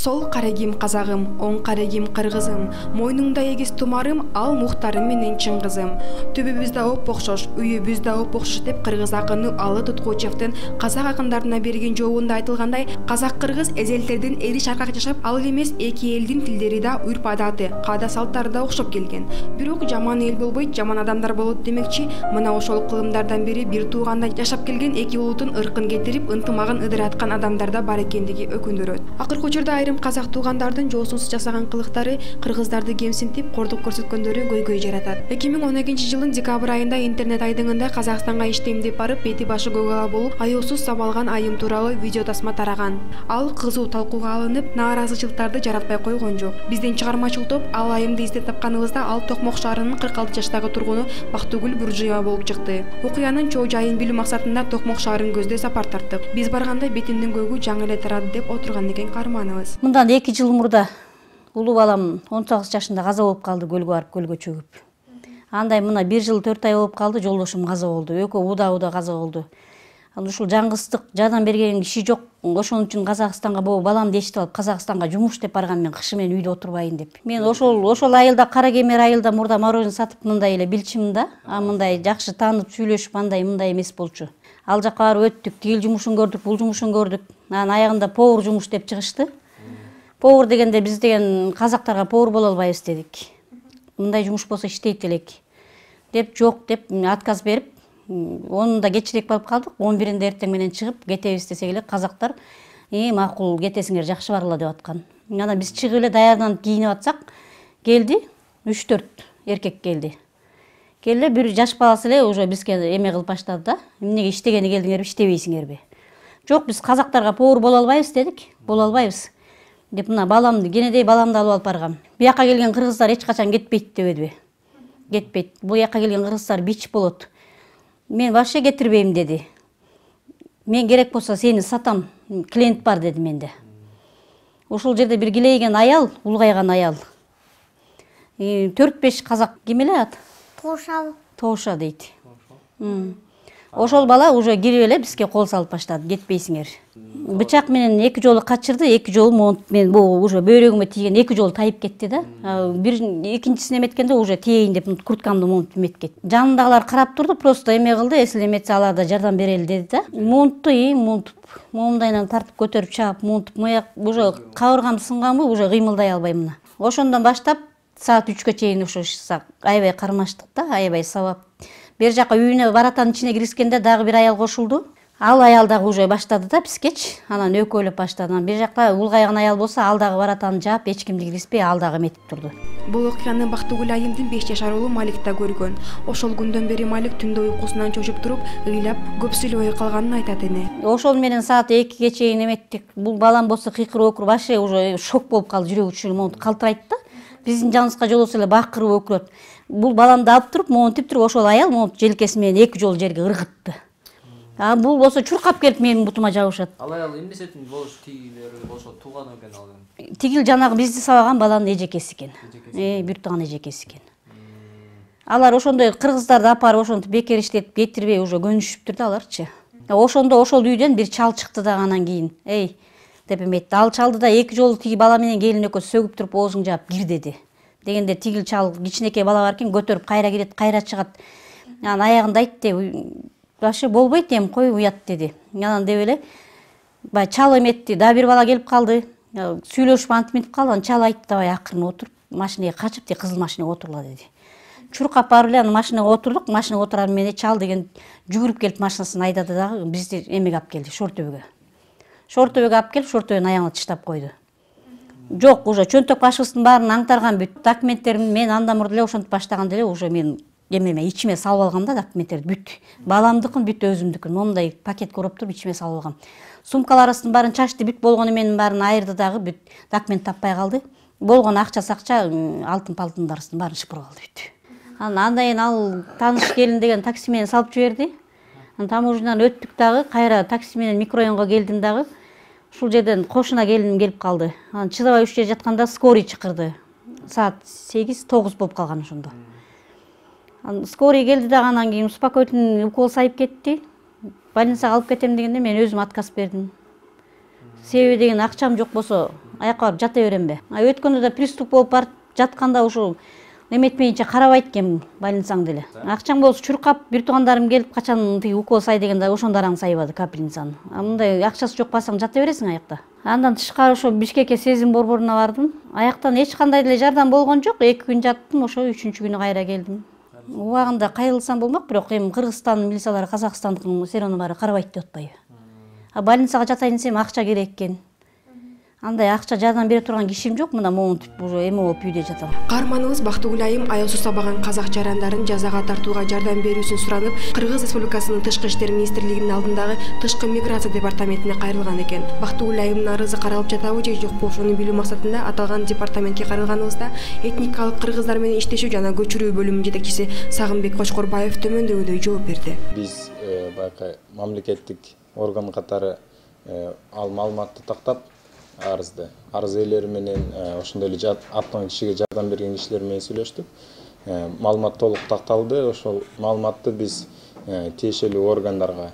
Сол карегим казагым, оң карегим кыргызым, мойнуңда эгиз тумарым, ал мухтарым менен чын кызым. Түбүбүз да опокшош, үйүбүз да опокшош деп кыргыз акыны Алы Туткучевдин казак акындарына берген жообунда айтылгандай, казак-кыргыз эзелтердин эри шаркак жашап, ал эмес эки элдин тилдери да, үрп адаты, каада салттары да окшоп келген. Бирок жаман эл болбойт, жаман адамдар болот демекчи, мына ошол кылымдардан бири бир тууганда жашап келген эки улуттун ыркын кетирип, ынтымагын ыдыраткан адамдарда бар экендиги өкүндүрөт. Акыркы учурда айрым казак туугандардын жоосунсуз жасаган кылыктары кыргыздарды кемсинтип, кордук көрсөткөндөрү көйгөй жаратат. 2012-жылдын декабрь айында интернет айдыңында Казакстанга иштейм деп барып, бети башы көк ала болуп, аяусуз сабалган айым тууралуу видео тасма тараган. Ал кызуу талкууга алынып, нааразычылыктарды жаратпай койгон жок. Биздин чыгармачыл топ ал айымды издеп тапканыбызда, ал Токмок шаарынын 46 жаштагы тургуну Бактыгүл Буржуева болуп чыкты. Окуянын чоо жайын билүү максатында Токмок шаарын көздөй сапар тарттык. Биз барганда бетиндин көгү жаңы эле тарады деп отурган экен каарманыбыз. Мындан 2 жыл мурда улуу балам 18 жашында каза болуп калды, көлгө барып көлгө чөгүп. Андай мына 1 жыл 4 ай болуп калды, жолдошум каза болду. Экөө уда каза болду. Ушул жаңгыстык жардам берген киши жок. Ошон үчүн Казакстанга баламды эчтип алып Казакстанга жумуш деп барган, мен кышы менен үйдө отурбайын деп. Мен ошол айылда, Кара Кемер айылда мурда мороженое сатып мындай эле билчимин да. Мындай жакшы таанып сүйлөшүп, андай мындай эмес болчу. Ал жакка барып өттүк, тигил жумушун көрдүк, бул жумушун көрдүк. Анан аягында повар жумуш деп чыгышты. Повар дегенде биз деген казактарга повар боло албайбыз дедик. Мындай жумуш болсо иштейт элек деп, жок деп отказ берип, 10-да кечирээк барып калдык. 11-inde эртең менен чыгып кетебиз десек эле казактар макул кетесиңер, жакшы баргыла деп аткан. Анан биз чыгып эле даярданып кийинип атсак, келди 3-4 эркек келди. Келе бир жаш баласы эле уже бизге эме кылып баштады да. Эмнеге иштегени келдиңерби, иштебейсиңерби? Жок, биз казактарга повар боло албайбыз дедик. Боло албайбыз деп, мына баламды, кенедей баламды алып алып баргам. Буяка келген кыргыздар эч качан кетпейт дебедиби? Кетпейт. Буяка келген кыргыздар бич болот. Мен вообще кетирбейм деди. Мен керек болсо сени сатам, клиент бар деди менде. Ошол жерде бир килейген аял, улгайган аял. 4-5 казак ким эле ат? Тоуша дейт. Ошол бала уже кирип эле бизге кол салып баштады, кетпейсиңер. Бычак менен 2 жолу качырды, 2 жолу монт мен уже бөйрөгүмө тийген, 2 жолу тайып кетти да. Бир экинчисине эметкенде уже тейин деп курткамды монтуп эметкет. Жанындагылар карап турду, просто эме кылды, эсил эметсе алар да жардам берели деди да. Монтту, монтуп, моомдайынан тартып көтөрүп чаап, монтуп, мыяк уже кабыргам сынганбы, уже кыймылдай албайм мына. Ошондон баштап саат 3кө чейин ошо аябай кармаштык да, аябай сабап. Бер жака үйүнө баратанын ичине киришкенде дагы бир аял кошулду. Ал аял дагы уже баштады да бизгечи. Анан экөөлөп баштады. Анан бир жакта улгайган аял болсо, ал дагы баратанын жаап, эч кимди киргизбей, ал дагы эметип турду. Бул окуяны Бактыгүл айымдын 5 жашар уулу Малик да көргөн. Ошол күндөн бери Малик түндө уйкусунан чочуп туруп, ыйлап, көп сүйлөбөй калганын айтат эне. Ошол менен саат 2ге чейин эметтик. Бул балам болсо кыйкырып өкүрүп, вообще уже шок болуп калды, жүрөгү чүйүлүп калтырайт да. Биздин жаныбызга жолосо эле бакырып өкүрөт. Бул баламды алып туруп, монтип туруп, ошол аял монтуп желкеси менен 2 жолу жерге ыргытты. Бул болсо чуркап келип менин бутума жабышат. Ал аял эмнесетин болуш, тигилери болсо тууган экен ал. Тигил жанагы бизди сабаган баланын эжекеси экен. Бир тууган эжекеси экен. Алар ошондой кыргыздарды апарып ошентип бекер иштетип кетирбей уже көнүшүптүр да аларчы. Ошондо ошол үйдөн бир чал чыкты да анан кийин. Деп эметти. Ал чалды да 2 жолу тиги бала менен келин экөө сөгүп туруп оозуң жаап кир деди. Дегенде тигил чал кичинекей бала бар экен, көтөрүп кайра кирет, кайра чыгат. Анан аягында айтты, вообще болбойт эми, кой уят деди. Анан деп эле бай чал эметти, да бир бала келип калды. Сүйлөшүп антип калды. Анан чал айтты, давай акырын отуруп, машинеге качып, кызыл машинеге отурла деди. Чуркап барып эле анан машинеге отурдук. Машинеге отурар менен чал деген жүгүрүп келип машинасын айдады дагы бизди эмеге алып келди, Шортөбөгө. Шортөбөгө алып келип, Шортөбөнүн аягына тыштап койду. Жок, уже чөнтөк башыбыздын баарын аңтарган бүт. Документтерин мен анда мурда эле ошентип баштаганда эле уже мен эмеме ичиме салып алгам да документтерди бүт. Баламдыкын бүт өзүмдүкүн. Момундай пакет көрүп туруп ичиме салып алгам. Сумкаларыбыздын баарын чачты, бүт болгону менин баарын айырды дагы бүт. Документ таппай калды. Болгон акча-сакча, алтын-палтындарыбыздын баарын шыпырып алды бүт. Андан ал тааныш келин деген такси менен салып жиберди. Таможнядан өттүк дагы, кайра такси менен микрорайонго келдим дагы. Ушул жерден кошуна келиним келип калды. Анан чыдабай ушул жерде жатканда скорый чакырды. Саат 8-9 болуп калган ошондо. Скорый келди дагы, анан кийин успокоительный укол сайып кетти. Больницага алып кетем дегенде мен өзүм отказ бердим. Себеби деген акчам жок болсо аякка барып жата беремби? Өткөндө да приступ болуп барып жатканда ушул эметмейинче карабайт экен больницаң деле. Акчаң болсо чуркап, бир туугандарым келип качан тиги укол сай дегенде ошондо араң сайбады капельницаны. Мындай акчасы жок басаң жата бересиң аякта. Андан тышкары ошо Бишкекке сезим борборуна бардым. Аяктан эч кандай деле жардам болгон жок. 2 күн жаттым, ошо 3-күнү кайра келдим. Убагында кайрылсам болмок, бирок эми Кыргызстан милициялары Казакстандыкын серону баары карабайт деп атпайбы. Больницага жатайын десем акча керек экен. Андай акча жардам бере турган кишим жок, мына монтип уже эме болуп үйдө жатам. Каарманыбыз Бактыгүл айым аяусуз сабаган казак жарандарын жазага тартууга жардам берүүсүн суранып, Кыргыз Республикасынын Тышкы иштер министрлигинин алдындагы Тышкы миграция департаментине кайрылган экен. Бактыгүл айымдын арызы каралып жатабы же жокпу, ошону билүү максатында аталган департаментке кайрылганыбызда этникалык кыргыздар менен иштешүү жана көчүрүү бөлүмүнүн жетекчиси Сагынбек Кочкорбаев төмөндөгүдөй жооп берди. Биз баягы мамлекеттик орган катары ал маалыматты тактап арыз ээлери менен ошондой эле аттан кишиге жардам берген кишилер менен сүйлөштүк. Маалымат толук такталды. Ошол маалыматты биз тиешелүү органдарга,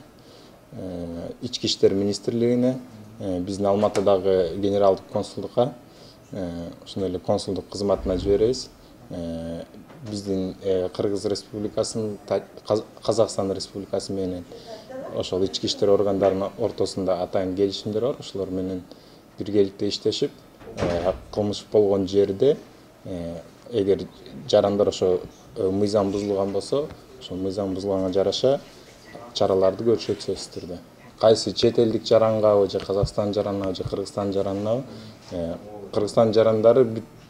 Ички иштер министрлигине, биздин Алматыдагы генералдык консулдукка, ошондой эле консулдук кызматына жиберебиз. Биздин Кыргыз Республикасынын, Казакстан Республикасы менен ошол ички иштер органдарынын ортосунда атайын келишимдер бар. Ошолор менен биргеликте иштешип, кылмыш болгон жерде эгер жарандар ошо мыйзам бузулган болсо, ошол мыйзам бузулганга жараша чараларды көрүшөт сөзсүз түрдө. Кайсы чет элдик жарангабы же Казакстан жаранабы же Кыргызстан жаранабы, Кыргызстан жарандары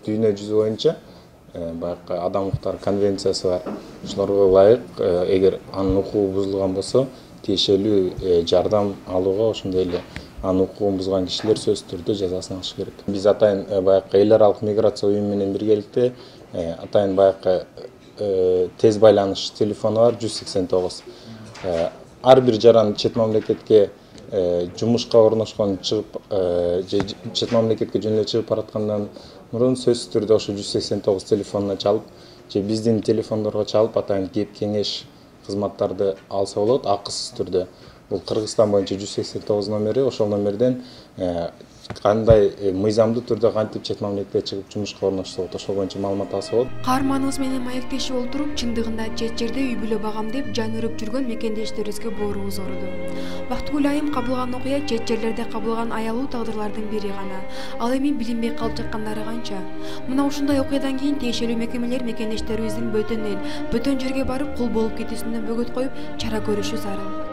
дүйнө жүзү боюнча баягы адам укуктары конвенциясы бар. Ошолорго ылайык эгер анын укугу бузулган болсо, тиешелүү жардам алууга, ошондой эле анын укугун бузган кишилер сөзсүз түрдө жазасын алышы керек. Биз атайын баягы эл аралык миграция уюму менен биргеликте атайын баягы тез байланыш телефону бар 189. Ар бир жаран чет мамлекетке жумушка орношкон чыгып же чет мамлекетке жөн эле чыгып бараткандан мурун сөзсүз түрдө ошо 189 телефонуна чалып же биздин телефондорго чалып атайын кеп кеңеш кызматтарды алса болот акысыз түрдө. Бул Кыргызстан боюнча 189 номери, ошол номерден кандай мыйзамдуу түрдө кантип чет мамлекетке чыгып жумушка орношсо болот, ошол боюнча маалымат алса болот. Каарманыбыз менен маектешип олтуруп, чындыгында чет жерде үй бүлө багам деп жан өрүп жүргөн мекендештерибизге боорубуз ооруду. Бактыгүл айым кабылган окуя чет жерлерде кабылган аялуу тагдырлардын бири гана. Ал эми билинбей калып жаткандары канча. Мына ушундай окуядан кийин тиешелүү мекемелер мекендештерибиздин бөтөн эл, бөтөн жерге барып кул болуп кетүүсүнө бөгөт коюп, чара көрүшү зарыл.